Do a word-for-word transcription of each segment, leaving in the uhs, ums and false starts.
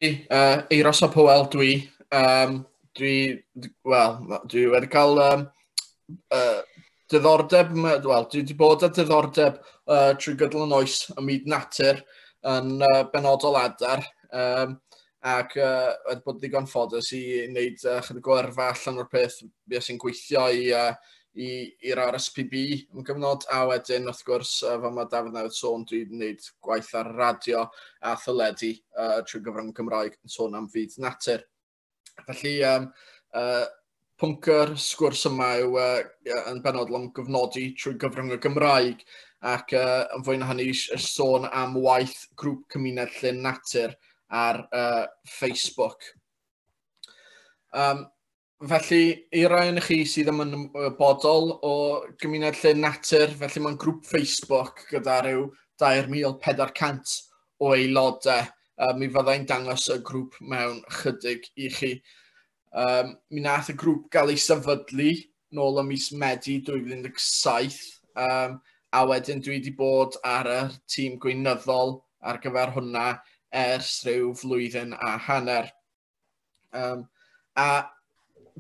Uh, Eiros ap Hywel dwi. Um, dwi, wel, dwi wedi cael um, uh, diddordeb, wel, dwi wedi bod â diddordeb uh, trwy gydol yn oes ym myd natur yn uh, benodol adar. Um, ac uh, wedi bod ddigon ffodus i wneud uh, chydig o yrfa allan o'r peth. Bues i'n gweithio i, uh, i'r R S P B am gyfnod, a wedyn, wrth gwrs, uh, fel mae Dafydd newydd sôn, dwi'n gwneud gwaith ar radio a theledu uh, trwy gyfrwng Cymraeg yn sôn am fyd natur. Felly, um, uh, pwnc yr sgwrs yma yw uh, yn benodol am gyfnodi trwy gyfrwng y Gymraeg, ac uh, yn fwy na hynny sôn am waith grŵp Cymuned Llyn Natur ar uh, Facebook. Um, felly, i rai ohonoch chi sydd ddim yn ymwybodol o Gymuned Llyn Natur, felly mae'n grŵp Facebook gyda rhyw dair mil pedwar cant o aelodau. Uh, mi fyddai'n dangos y grŵp mewn chydig i chi. Um, mi nath y grŵp gael ei sefydlu nôl ym mis Medi dwy fil un deg saith, um, a wedyn dwi wedi bod ar y tîm gweinyddol ar gyfer hwnna ers rhyw flwyddyn a hanner. Um, a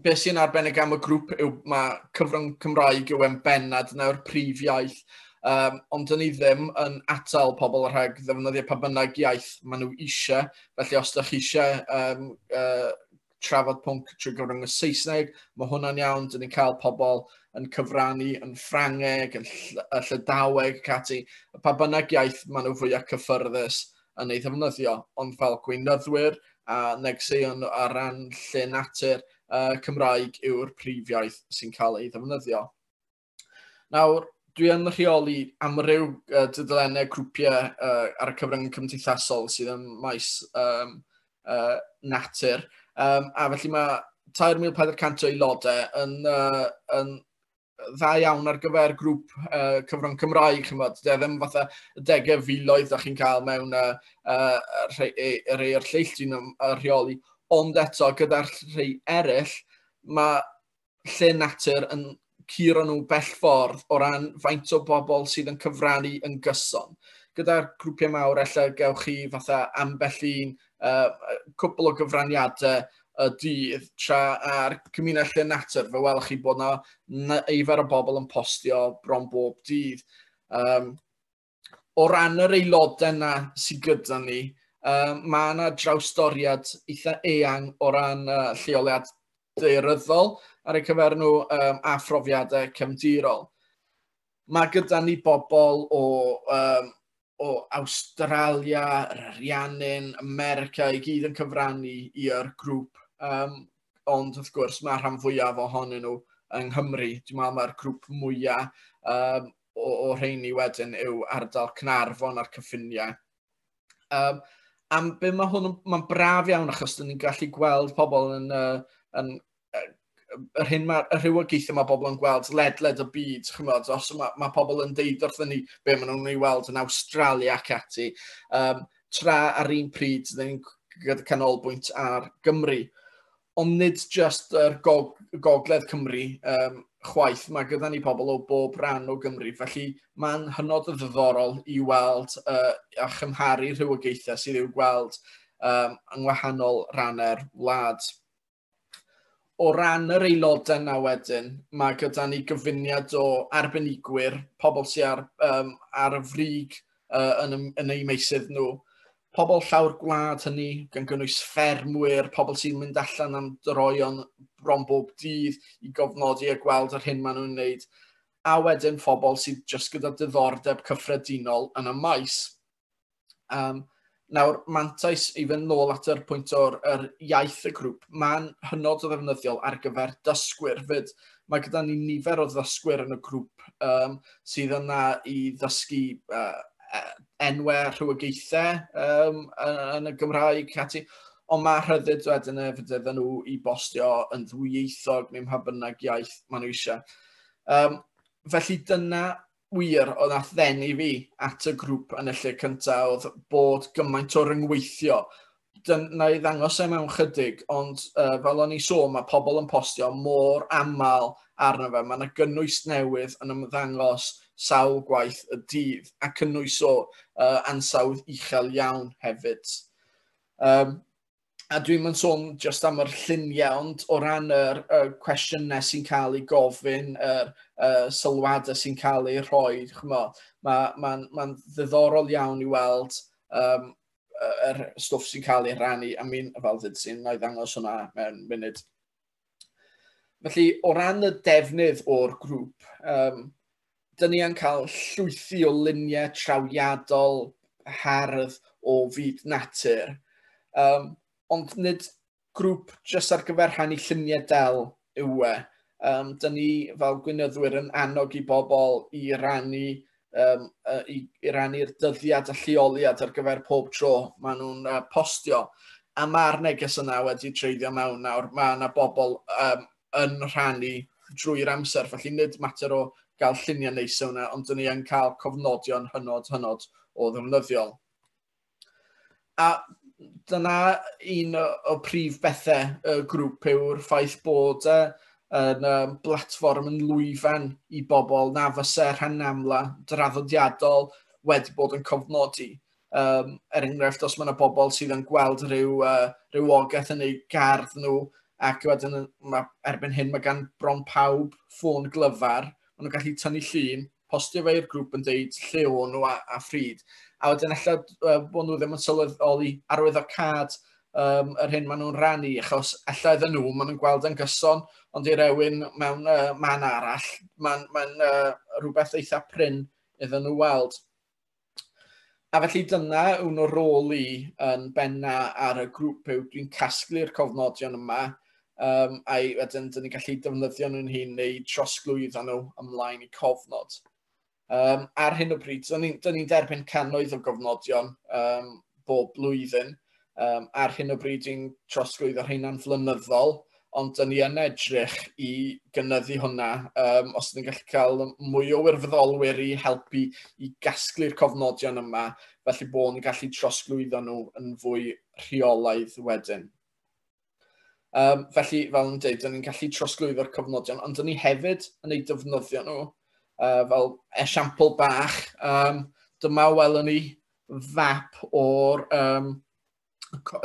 beth sy'n arbennig am y grŵp yw mae cyfrwng Cymraeg yw e'n bennad nawr prif iaith, um, ond dyn ni ddim yn atal pobl rhag ddefnyddio pa bynnag iaith maen nhw eisiau. Felly os ydych chi eisiau um, uh, trafod pwnc trwy gyfrwng y Saesneg, mae hwnna'n iawn. Dyn ni'n cael pobl yn cyfrannu yn Ffrangeg, yn ll-, Llydaweg ac ati. Pa bynnag iaith maen nhw fwyaf cyffyrddus yn ei ddefnyddio, ond fel gweinyddwyr a negeseuon ar ran Llyn Natur, uh, Cymraeg yw'r prif iaith sy'n cael ei ddefnyddio. Nawr, dwi yn rheoli amryw, uh, dudalennau grwpiau, uh, ar y cyfrwng cymdeithasol sydd yn maes, um, uh, natur. Um, a felly mae tair mil pedwar cant o aelodau yn, uh, yn dda iawn ar gyfer grŵp, uh, cyfrwng Cymraeg, chimod. Dydy e ddim fatha y degau filoedd da chi'n cael mewn, uh, uh, rhai, e, rhai o'r lleill dwi'n ym-, yy, rheoli. Ond eto, gyda'r rhai eraill, mae Llyn Natur yn curo nhw bell ffordd o ran faint o bobl sydd yn cyfrannu yn gyson. Gyda'r grwpiau mawr, ella gewch chi fatha ambell un, uh, cwpl o gyfraniadau y dydd, tra ar Cymuned Llyn Natur, fe welwch chi bod 'na nifer o bobl yn postio bron bob dydd. Um, o ran yr aelodau yna sydd gyda ni, um, mae yna drawstoriad eitha eang o ran, uh, lleoliad daearyddol ar eu cyfer nhw, um, a phrofiadau cefndirol. Mae gyda ni bobl o, um, o Awstralia, yr Ariannin, America, i gyd yn cyfrannu i'r grŵp. Um, ond wrth gwrs mae rhan fwyaf ohonyn nhw yng Nghymru. Dwi'n meddwl mae'r grŵp mwyaf, um, o, o rheini wedyn yw ardal Caernarfon a'r cyffiniau. Um, am be mae hwn yn, mae'n braf iawn achos dyn ni'n gallu gweld pobl yn, uh, yn, uh, yr hyn mae'r, y rhywogaethau mae pobl yn gweld ledled y byd, chimod, os mae, mae pobl yn deud wrthyn ni be maen nhw'n ei weld yn Awstralia ac ati, um, tra ar un pryd dyn ni'n gyda canolbwynt ar Gymru. Ond nid jyst yr gog-, gogledd Cymru, um, chwaith, mae gyda ni pobl o bob rhan o Gymru, felly mae'n hynod o ddiddorol i weld, uh, a chymharu rhywogaethau sydd i'w gweld, um, yng ngwahanol rannau'r wlad. O ran yr aelodau yna wedyn, mae gyda ni gyfuniad o arbenigwyr, pobl sydd ar, um, ar y frig, uh, yn, yn eu meysydd nhw, pobl llawr gwlad hynny, gan gynnwys ffermwyr, pobl sy'n mynd allan am droeon bron bob dydd i gofnodi a gweld yr hyn maen nhw'n wneud, a wedyn phobl sydd jyst gyda diddordeb cyffredinol yn y maes. Um, nawr, mantais i fynd nôl at yr pwynt o'r yr iaith y grŵp, mae'n hynod o ddefnyddiol ar gyfer dysgwyr fyd. Mae gyda ni nifer o ddysgwyr yn y grŵp, um, sydd yna i ddysgu, uh, enwau rhywogaethau, um, yn y Gymraeg ati, ond mae rhyddid wedyn hefyd iddyn nhw i bostio yn ddwyieithog neu mha bynnag iaith maen nhw eisiau. Um, felly dyna wir oedd nath ddenu fi at y grŵp yn y lle cyntaf, oedd bod gymaint o ryngweithio. Dyna i ddangos e mewn chydig, ond, uh, fel o'n i sôn, mae pobl yn postio mor aml arno fe. Mae yna gynnwys newydd yn ymddangos sawl gwaith y dydd, a cynnwys o, uh, ansawdd uchel iawn hefyd. Um, A dwi'n mynd sôn jyst am yr lluniau, ond o ran yr, yr cwestiynau sy'n cael ei gofyn, yr, yr sylwadau sy'n cael ei rhoi, ch'mo', mae'n ma, ma ddiddorol iawn i weld um, yr stwff sy'n cael ei rannu, a mi'n, fel ddyd sy'n, na i ddangos hwnna mewn munud. Felly, o ran y defnydd o'r grŵp, um, dyn ni yn cael llwythi o luniau trawiadol, hardd o fyd natur. Um, ond nid grŵp jyst ar gyfer rhannu lluniau del yw e. Um, dyn ni fel gweinyddwyr yn annog i bobl i rannu, um, i, i rannu'r dyddiad a lleoliad ar gyfer pob tro maen nhw'n uh, postio. A mae'r neges yna wedi treiddio mewn nawr. Mae yna bobl um, yn rhannu drwy'r amser, felly nid mater o gael lluniau neis yna, ond dyn ni yn cael cofnodion hynod, hynod o ddefnyddiol. A dyna un o prif bethau y grŵp yw'r ffaith bod e yn um, blatfform yn lwyfan i bobl na fysa rhan amla draddodiadol wedi bod yn cofnodi. Um, er enghraifft, os mae yna bobl sydd yn gweld rhyw uh, rhywogaeth yn eu gardd nhw, ac wedyn ma, erbyn hyn mae gan bron pawb ffôn glyfar, maen nhw'n gallu tynnu llun, postio fe i'r grŵp yn deud lle o'n nhw a, a phryd. A wedyn ella uh, bod nhw ddim yn sylweddoli arwyddocâd um, yr hyn maen nhw'n rannu, achos ella iddyn nhw, maen nhw'n gweld yn gyson, ond i rywun mewn uh, man arall, mae'n ma uh, rhywbeth eitha prin iddyn nhw weld. A felly dyna un o'r rôl i yn benna ar y grŵp yw dwi'n casglu'r cofnodion yma, um, a wedyn dyn ni'n gallu defnyddio nhw'n hun neu trosglwyddo nhw ymlaen i cofnod. Um, ar hyn o bryd, dyn ni'n ni derbyn cannoedd o gofnodion um, bob blwyddyn. Um, ar hyn o bryd, dwi'n trosglwyddo rheina'n flynyddol, ond dyn ni yn edrych i gynyddu hwnna. Um, os dyn ni'n gallu cael mwy o wirfoddolwyr i helpu i gasglu'r cofnodion yma, felly bod ni'n gallu trosglwyddo nhw yn fwy rheolaidd wedyn. Um, felly, fel yn dweud, dyn ni'n gallu trosglwyddo'r cofnodion, ond dyn ni hefyd yn eu defnyddio nhw. Uh, fel esiampl bach, um, dyma welwn ni fap o'r... Um,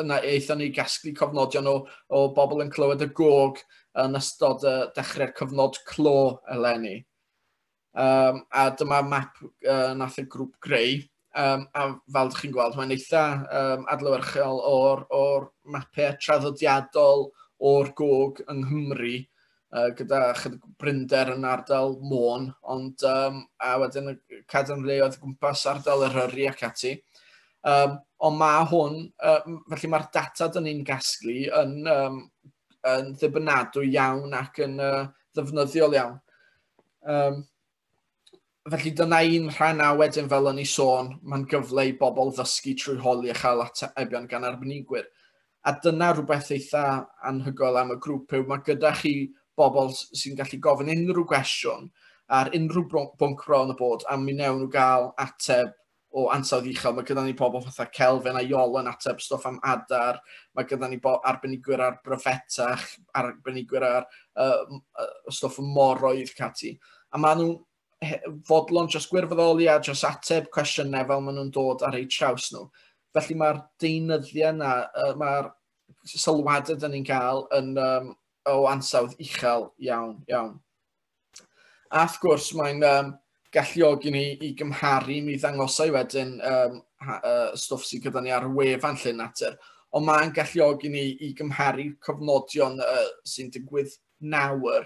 na aethon ni gasglu cofnodion o, o bobl yn clywed y gog yn ystod y dechrau'r cyfnod clo eleni. Um, a dyma map uh, nath y grŵp greu. Um, a fel ydych chi'n gweld, mae'n eitha um, adlewyrchol o'r, or mapau traddodiadol o'r gog yng Nghymru, uh, gyda chydig brinder yn ardal Môn, ond um, a wedyn y cadarnleoedd gwmpas ardal Eryri ac ati. Um, ond mae hwn, uh, felly mae'r data dyn ni'n gasglu yn, um, yn ddibynadwy iawn ac yn uh, ddefnyddiol iawn. Um, felly dyna un rhan a wedyn fel o'n i sôn, mae'n gyfle i bobl ddysgu trwy holi a chael atebion gan arbenigwyr. A dyna rhywbeth eitha anhygoel am y grŵp yw, mae gyda chi bobl sy'n gallu gofyn unrhyw gwestiwn ar unrhyw bwnc bron y bod, a mi wnewn nhw gael ateb o ansawdd uchel. Mae gyda ni pobl fatha Kelvin a Iolo yn ateb stwff am adar, mae gyda ni arbenigwyr ar bryfetach, arbenigwyr ar uh, stwff moroedd cati. A maen nhw'n fodlon jyst gwirfoddoli a jyst ateb cwestiynau fel maen nhw'n dod ar eu traws nhw. Felly mae'r deunyddiau yna, uh, mae'r sylwadau dyn ni'n cael yn, um, o ansawdd uchel iawn, iawn. A wrth gwrs mae'n um, galluogi ni i gymharu, mi ddangosau wedyn um, ha, uh, stwff sydd gyda ni ar wefan Llyn Natur, ond mae'n galluogi ni i gymharu cofnodion uh, sy'n digwydd nawr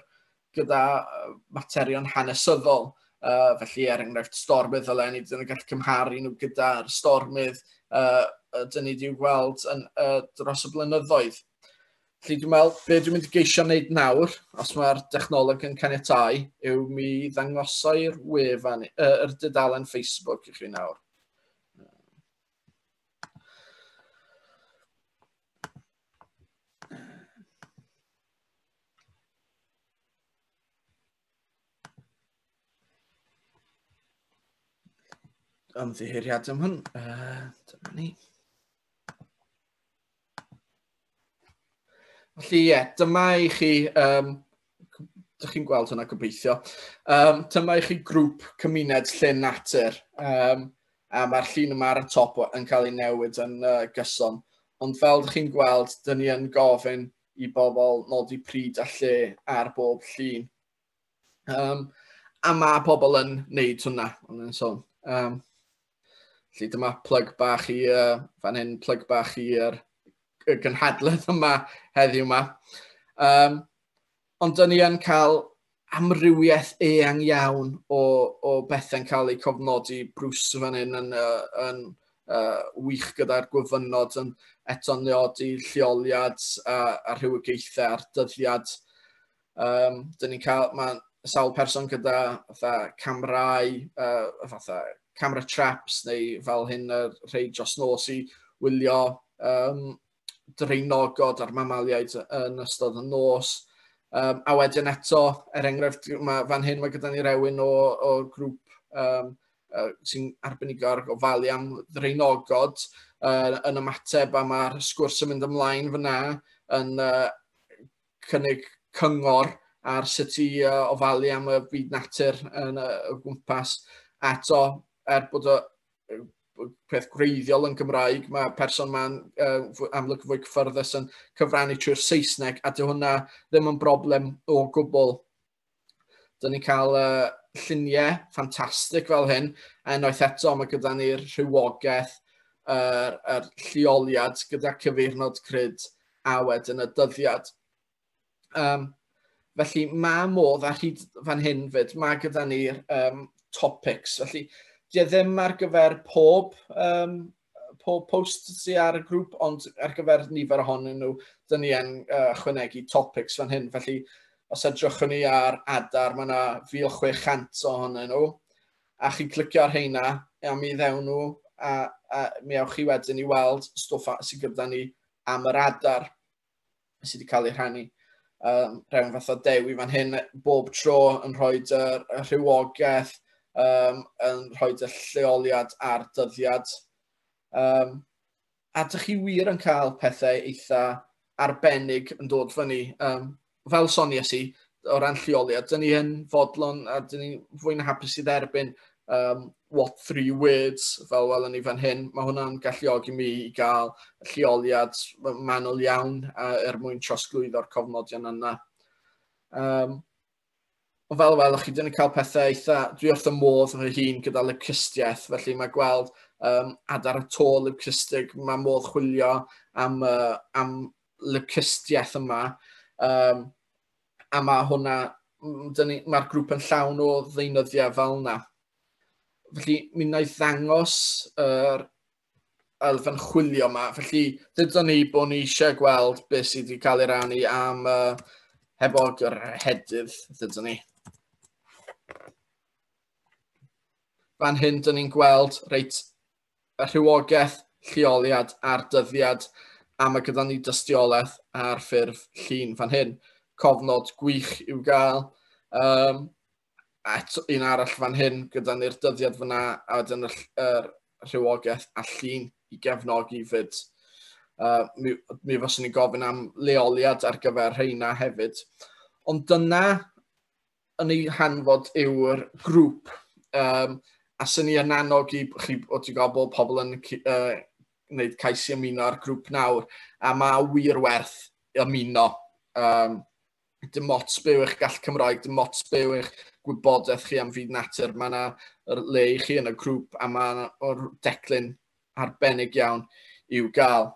gyda uh, materion hanesyddol. Uh, felly, er enghraifft, stormydd eleni, dyn ni'n gallu cymharu nhw gyda'r stormydd uh, dyn ni wedi'w gweld yn, uh, dros y blynyddoedd. Felly dwi'n meddwl, be dwi'n mynd i geisio wneud nawr, os mae'r dechnoleg yn caniatáu, yw mi ddangosau'r wefan, uh, yr dudalen Facebook i chi nawr. Ymddiheuriad am hwn. Uh, dyma ni. Felly ie, dyma i chi, um, dych chi'n gweld hwnna gobeithio, um, dyma i chi grŵp cymuned Llyn Natur, um, a mae'r llun yma ar y top yn cael ei newid yn uh, gyson. Ond fel ydych chi'n gweld, dyn ni yn gofyn i bobl nodi pryd a lle ar bob llun. Um, a mae pobl yn neud hwnna, o'n i'n sôn. Um, felly dyma plug bach i, uh, fan hyn, plug bach i'r y gynhadledd yma heddiw yma. Um, ond dyn ni yn cael amrywiaeth eang iawn o, o bethau'n cael eu cofnodi. Bruce fan hyn yn, uh, yn uh, wych gyda'r gwyfynod yn eto'n nodi lleoliad a, a rhywogaethau a'r dyddiad. Um, dyn ni'n cael, mae sawl person gyda fatha camerau, uh, fatha camera traps neu fel hyn y rhai dros nos i wylio um, draenogod a'r mamaliaid yn ystod y nos. Um, a wedyn eto, er enghraifft, ma, fan hyn mae gyda ni rewyn o, o grŵp um, uh, sy'n arbenigo ar gofalu am ddraenogod uh, yn ymateb, a mae'r sgwrs yn mynd ymlaen fyna yn uh, cynnig cyngor ar sut i uh, ofalu am y byd natur yn y, y gwmpas. A eto, er bod y peth gwreiddiol yn Gymraeg, mae person ma'n uh, amlwg fwy cyffyrddus yn cyfrannu trwy'r Saesneg, a dyw hwnna ddim yn broblem o gwbl. Dyn ni'n cael uh, lluniau ffantastig fel hyn, a unwaith eto mae gyda ni'r rhywogaeth, yr, yr lleoliad gyda cyfeirnod crud a wedyn y dyddiad. Um, felly mae modd ar hyd fan hyn fyd, mae gyda ni'r um, topics. Felly di e ddim ar gyfer pob, um, pob post sydd ar y grŵp, ond ar gyfer nifer ohonyn nhw, dyn ni yn uh, ychwanegu topics fan hyn. Felly, os edrychwn ni ar adar, mae yna mil chwe chant ohonyn nhw, a chi'n clicio ar heina, a mi ddewn nhw, a, a mi ewch chi wedyn i weld stwff sydd gyda ni am yr adar sydd wedi cael ei rhannu. Um, rhewn fath o Dewi fan hyn, bob tro yn rhoi y rhywogaeth, um, yn rhoi y lleoliad a'r dyddiad. Um, a dych chi wir yn cael pethau eitha arbennig yn dod fyny. Um, fel soniais i, o ran lleoliad, dyn ni yn fodlon a dyn ni fwy na hapus i dderbyn um, what three words, fel welwn ni fan hyn. Mae hwnna'n galluogi mi i gael lleoliad manwl iawn uh, er mwyn trosglwyddo'r cofnodion yna. Um, Ond fel welwch chi, dyn ni'n cael pethau eitha, dwi wrth y modd fy hun gyda leucistiaeth, felly mae gweld um, adar y to leucistig, mae modd chwilio am, uh, am leucistiaeth yma. Um, a mae hwnna, mae'r grŵp yn llawn o ddeunyddiau fel yna. Felly, mi wna i ddangos yr elfen chwilio yma. Felly, dydyn ni bod ni eisiau gweld beth sydd wedi cael ei rannu am uh, hebog yr hedydd, dydyn ni. Fan hyn, dyn ni'n gweld reit y rhywogaeth, lleoliad a'r dyddiad, a mae gyda ni dystiolaeth ar ffurf llun fan hyn. Cofnod gwych i'w gael. Um, a eto un arall fan hyn, gyda ni'r dyddiad fyna, a wedyn y, yr rhywogaeth a llun i gefnogi fyd. Uh, mi, mi fyswn i'n gofyn am leoliad ar gyfer rheina hefyd. Ond dyna yn ei hanfod yw'r grŵp. Um, a sy'n ni yn annog i chi, o ti'n gwybod bod pobl yn uh, gwneud cais i ymuno ar grŵp nawr, a mae wir werth ymuno. Um, dim ots be yw eich gallu Cymraeg, dim ots be yw eich gwybodaeth chi am fyd natur. Mae yna le i chi yn y grŵp a mae yna declyn arbennig iawn i'w gael.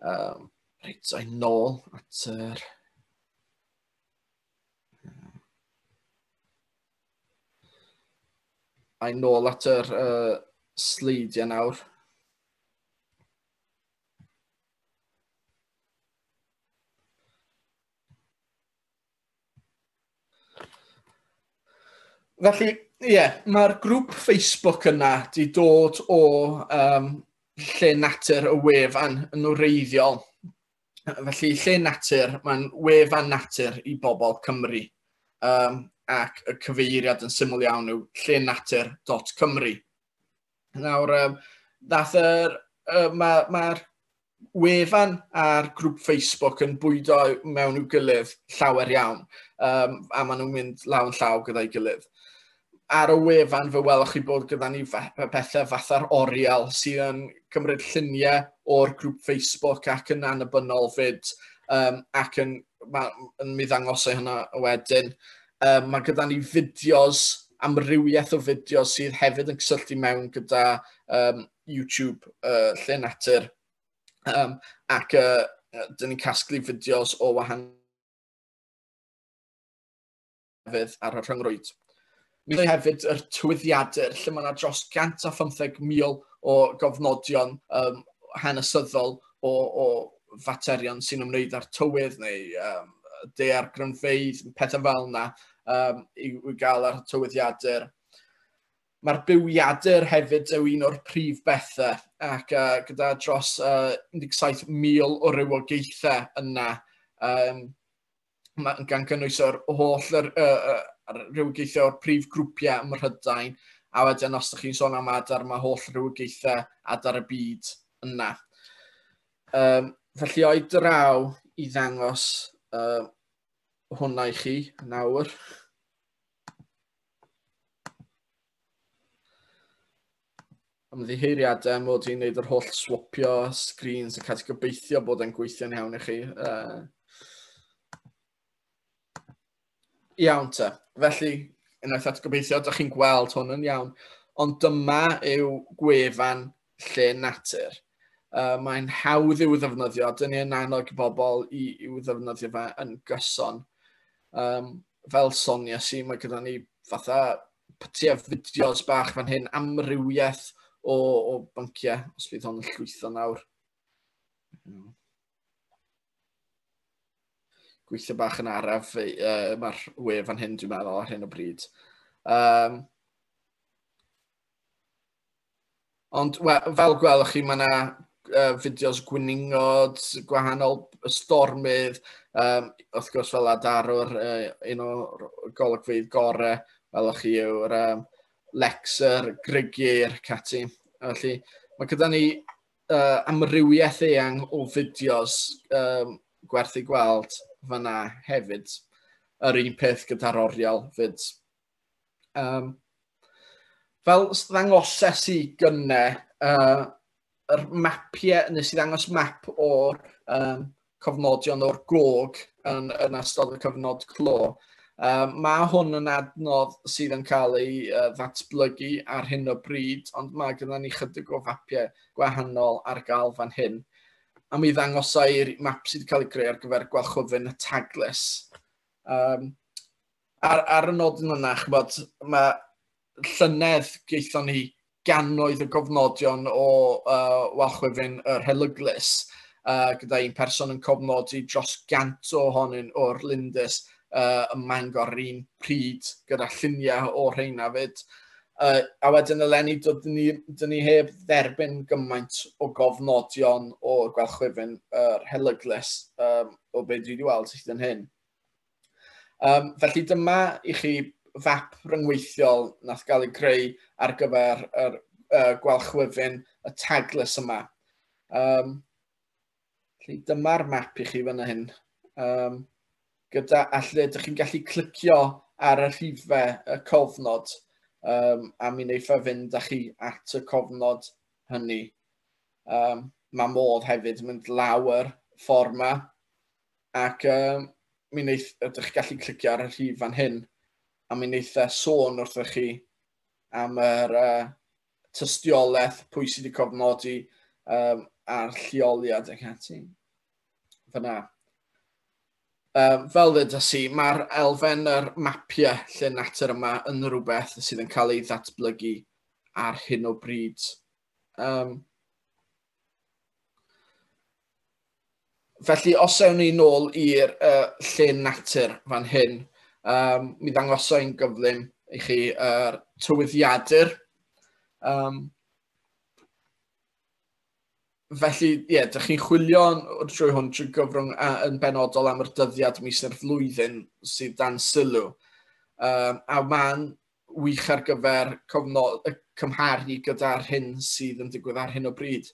Um, reit, a'i nôl at yr... A'i nôl at yr uh, sleidiau nawr. Felly, ie, yeah, mae'r grŵp Facebook yna di dod o um, lle natur y wefan yn wreiddiol. Felly, lle natur, mae'n wefan natur i bobl Cymru. Um, ac y cyfeiriad yn syml iawn yw lle natur dot cymru. Nawr, um, nath yr, uh, mae'r ma wefan a'r grŵp Facebook yn bwydo mewn i'w gilydd llawer iawn, um, a maen nhw'n mynd law yn llaw gyda'i gilydd. Ar y wefan fe welwch chi bod gyda ni pethau fatha'r oriel sydd yn cymryd lluniau o'r grŵp Facebook ac yn annibynnol fyd, um, ac yn, ma, yn mi ddangos e hynna wedyn. Um, mae gyda ni fideos, amrywiaeth o fideos sydd hefyd yn cysylltu mewn gyda um, YouTube uh, Lle Natur, um, ac uh, dyn ni'n casglu fideos o wahanol ar y rhyngrwyd. Mi ddweud hefyd yr tywyddiadur, lle mae yna dros cant a phymtheg mil o gofnodion um, hanesyddol o, o faterion sy'n ymwneud â'r tywydd neu um, daeargrynfeydd, pethau fel yna, um, i, i gael ar y tywyddiadur. Mae'r bywiadur hefyd yw un o'r prif bethau, ac uh, gyda dros uh, un deg saith mil o rywogaethau yna, um, ma, gan gynnwys o'r holl yr, uh, uh, rhywogaethau o'r prif grwpiau ym Mhrydain, a wedyn os ydych chi'n sôn am adar, mae holl rhywogaethau adar y byd yna. Um, felly o'i draw i ddangos uh, hwnna i chi nawr. Ymddiheuriadau mod i'n neud yr holl swapio screens ac ati, gobeithio bod e'n gweithio'n iawn i chi. Uh, iawn te. Felly, unwaith eto gobeithio, ydych chi'n gweld hwn yn iawn. Ond dyma yw gwefan Lle Natur. Uh, mae'n hawdd i'w ddefnyddio. Dyn ni yn annog bobl i, i'w ddefnyddio fe yn gyson. Um, fel Sonia si, mae gyda ni fatha pytiau fideos bach fan hyn, amrywiaeth o, o bynciau, os fydd hon yn llwytho nawr. Gweithio bach yn araf, uh, mae'r wefan hyn, dwi'n meddwl, ar hyn o bryd. Um, ond we, fel gwelwch chi, mae yna uh, fideos gwningod, gwahanol stormydd, um, wrth gwrs fel adarwr, uh, un o'r golygfeydd gorau, welwch chi yw'r um, Lexer, Grugieir, cati. Felly, mae gyda ni uh, amrywiaeth eang o fideos um, gwerth i gweld fyna hefyd. Yr un peth gyda'r oriel fyd. Um, fel ddangoses i gynne, uh, yr mapiau, nes i ddangos map o'r um, cofnodion o'r gog yn, yn ystod y cyfnod clo. Um, mae hwn yn adnodd sydd yn cael ei uh, ddatblygu ar hyn o bryd, ond mae gyda ni chydig o fapiau gwahanol ar gael fan hyn. A mi ddangosai'r map sydd wedi cael ei greu ar gyfer gwalchwfyn y Taglys. Um, ar, ar y nodyn yna, ch'bod, mae llynedd gaethon ni gannoedd o gofnodion o uh, walchwyfyn yr Helyglys, uh, gyda un person yn cofnodi dros gant ohonyn o'r Lindys uh, ym Mangor yr un pryd, gyda lluniau o'r rheina fyd. Uh, a wedyn eleni, dyn ni, dyn ni heb dderbyn gymaint o gofnodion o'r gwalchwyfyn yr Helyglys um, o be dwi wedi weld hyd yn hyn. Um, felly dyma i chi fap ryngweithiol nath gael ei greu ar gyfer yr uh, gwalchwyfyn y Taglys yma. Um, felly dyma'r map i chi fan hyn. Um, gyda, a lle ydych chi'n gallu clicio ar y rhifau y cofnod, um, a mi wneith e fynd â chi at y cofnod hynny. Um, mae modd hefyd mynd lawr ffordd yma, ac um, mi wneith, ydych chi'n gallu clicio ar y rhif fan hyn, a mi wneith e sôn wrthych chi am yr uh, tystiolaeth, pwy sydd wedi cofnodi um, a'r lleoliad ac ati. Fyna. Um, fel ddeudais i, mae'r elfen yr mapiau Lle Natur yma yn rhywbeth sydd yn cael ei ddatblygu ar hyn o bryd. Um, felly, os ewn ni nôl i'r uh, Lle Natur fan hyn, um, mi ddangosa i'n gyflym i chi yr uh, tywyddiadur. Um, Felly, ie, yeah, dych chi'n chwilio drwy hwn trwy gyfrwng a, yn benodol am yr dyddiad mis neu'r flwyddyn sydd dan sylw. Um, a mae'n wych ar gyfer cofnod, cymharu gyda'r hyn sydd yn digwydd ar hyn o bryd.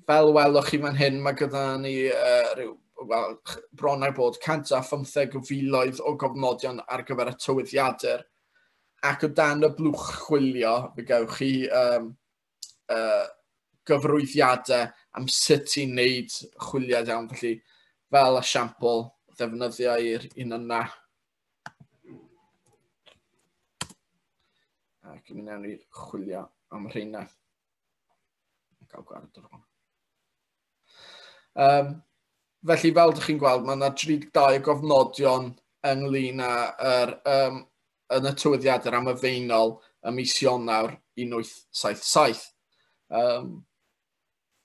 Fel welwch chi fan hyn, mae gyda ni uh, rhyw, well, bron ar bod cant a phymtheg o filoedd o gofnodion ar gyfer y tywyddiadur. Ac o dan y blwch chwilio, fe gewch chi um, uh, gyfrwyddiadau am sut i wneud chwiliad iawn. Felly, fel esiampl, ddefnyddio i'r un yna. Ac mi wnawn ni chwilio am rheina. Gael gwared ar hwn. Um, felly, fel ydych chi'n gweld, mae yna tri deg dau o gofnodion ynglyn â'r um, yn y tywyddiadur am y Faenol ym mis Ionawr un wyth saith saith. Um,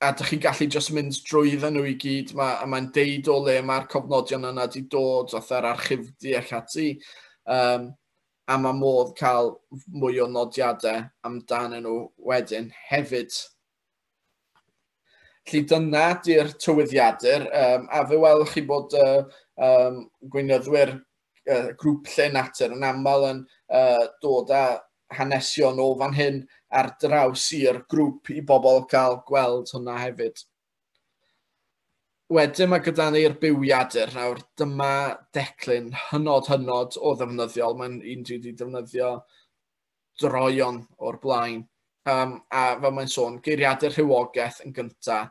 a dych chi'n gallu jyst mynd drwydden nhw i gyd, ma, a mae'n deud o le mae'r cofnodion yna wedi dod, fatha'r archifdy ac ati, um, a mae modd cael mwy o nodiadau amdanyn nhw wedyn hefyd. Felly dyna di'r tywyddiadur, um, a fe welwch chi bod uh, um, gweinyddwyr uh, grŵp Llên Natur yn aml yn uh, dod â hanesion o fan hyn ar draws i'r grŵp i bobl cael gweld hwnna hefyd. Wedyn mae gyda ni'r bywiadur. Nawr, dyma declyn hynod hynod o ddefnyddiol. Mae'n un dwi wedi defnyddio droeon o'r blaen. Um, a fel mae'n sôn, geiriadur rhywogaeth yn gynta.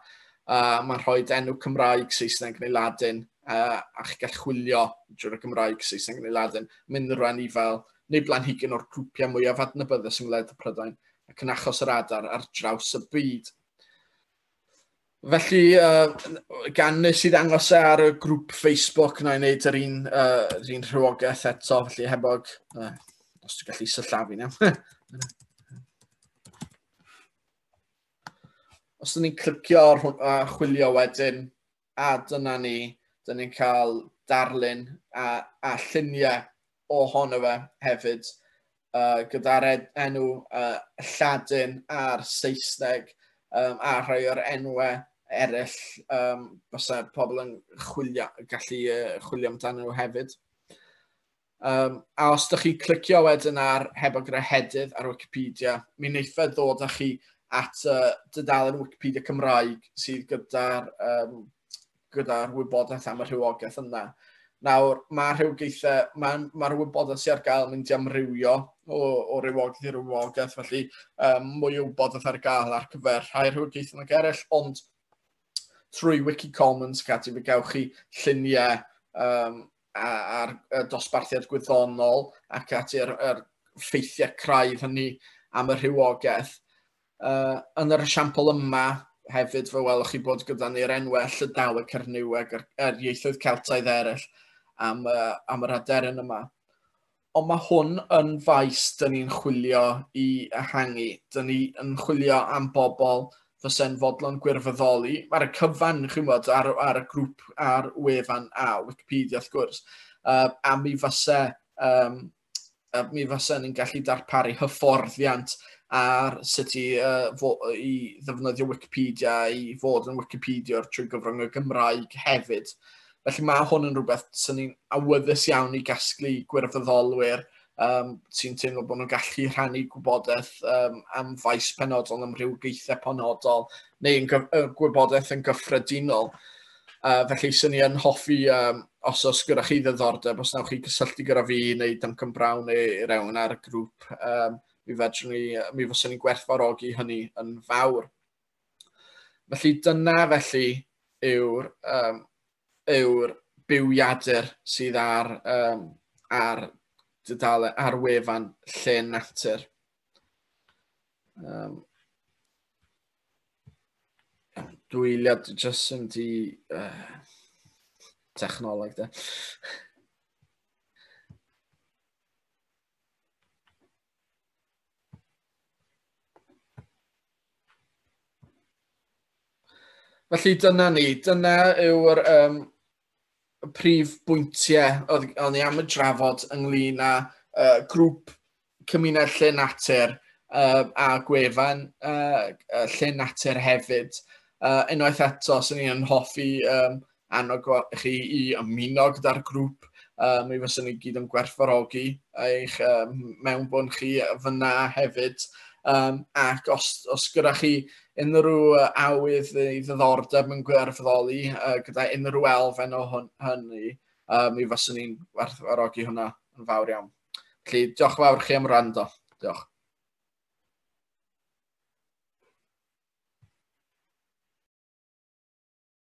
Uh, mae'n rhoi enw Cymraeg, Saesneg neu Ladin, uh, a chi gall chwilio drwy'r Gymraeg, Saesneg neu Ladin, mynd rhan i fel neu blanhigyn o'r grwpiau mwyaf adnabyddus yng Ngwlad y Prydain, ac yn achos yr adar ar draws y byd. Felly, uh, gan nes i ddangos e ar y grŵp Facebook, na i wneud yr un, uh, yr un rhywogaeth eto, felly hebog, uh, os dwi'n gallu sillafu nawr. Os dyn ni'n clicio ar hwn, a chwilio wedyn, a dyna ni, dyn ni'n cael darlun a, a lluniau ohono fe hefyd, uh, gyda'r enw uh, Lladin a'r Saesneg, um, a rhai o'r enwau eraill um, fysa pobl yn chwilio, gallu uh, chwilio amdano nhw hefyd. Um, a os ydych chi'n clicio wedyn ar hebog yr ehedydd ar Wikipedia, mi wneith e ddod â chi at uh, dudalen Wikipedia Cymraeg sydd gyda'r um, gyda'r wybodaeth am y rhywogaeth yna. Nawr, mae rhywogaethau, mae'r ma wybodaeth sydd ar gael yn mynd i amrywio o, o rywogaeth i rywogaeth, felly um, mwy o wybodaeth ar gael ar gyfer rhai rhywogaethau nag eraill, ond trwy Wikicommons gati fe gewch chi lluniau um, a'r dosbarthiad gwyddonol ac ati yr, yr ffeithiau craidd hynny am y rhywogaeth. Uh, yn yr esiampl yma hefyd fe welwch chi bod gyda ni'r enwau Llydaweg, Cernyweg a'r, a'r ieithoedd Celtaidd eraill am, uh, am yr aderyn yma. Ond mae hwn yn faes dyn ni'n chwilio i ehangu. Dyn ni yn chwilio am bobl fysa'n fodlon gwirfoddoli. Ar y cyfan, chi'n gwybod, ar, ar y grŵp, ar wefan a Wikipedia, wrth gwrs. Uh, a mi fysa, um, mi fysa ni'n gallu darparu hyfforddiant ar sut i, uh, fo, i ddefnyddio Wikipedia, i fod yn Wikipediwr trwy gyfrwng y Gymraeg hefyd. Felly mae hwn yn rhywbeth sy'n ni'n awyddus iawn i gasglu gwirfoddolwyr um, sy'n teimlo bod nhw'n gallu rhannu gwybodaeth um, am faes penodol, am rhywogaethau penodol, neu yn gwybodaeth yn gyffredinol. Uh, felly sy'n ni yn hoffi, um, os oes gyda chi ddiddordeb, os wnewch chi gysylltu gyda fi neu Duncan Brown neu rhywun ar y grŵp, um, mi fedrwn ni, mi fyswn ni'n gwerthfawrogi hynny yn fawr. Felly dyna felly yw'r um, yw'r bywiadur sydd ar, um, ar, dudalen, ar wefan Llên Natur. Um, dwy eiliad jyst yn di uh, technoleg de. Felly dyna ni, dyna yw'r um, prif bwyntiau oedd o'n i am y drafod ynglyn â uh, grŵp cymuned Llên Natur uh, a gwefan uh, Llên Natur hefyd. Uh, unwaith eto, swn i'n hoffi um, annog chi i ymuno gyda'r grŵp. Uh, mi fyswn ni gyd yn gwerthfawrogi eich uh, mewnbwn chi fyna hefyd. Um, ac os, os gyda chi unrhyw awydd neu ddiddordeb yn gwirfoddoli uh, gyda unrhyw elfen o hwn, hynny, uh, mi fyswn ni'n gwerthfawrogi hwnna yn fawr iawn. Felly, diolch fawr chi am wrando. Diolch.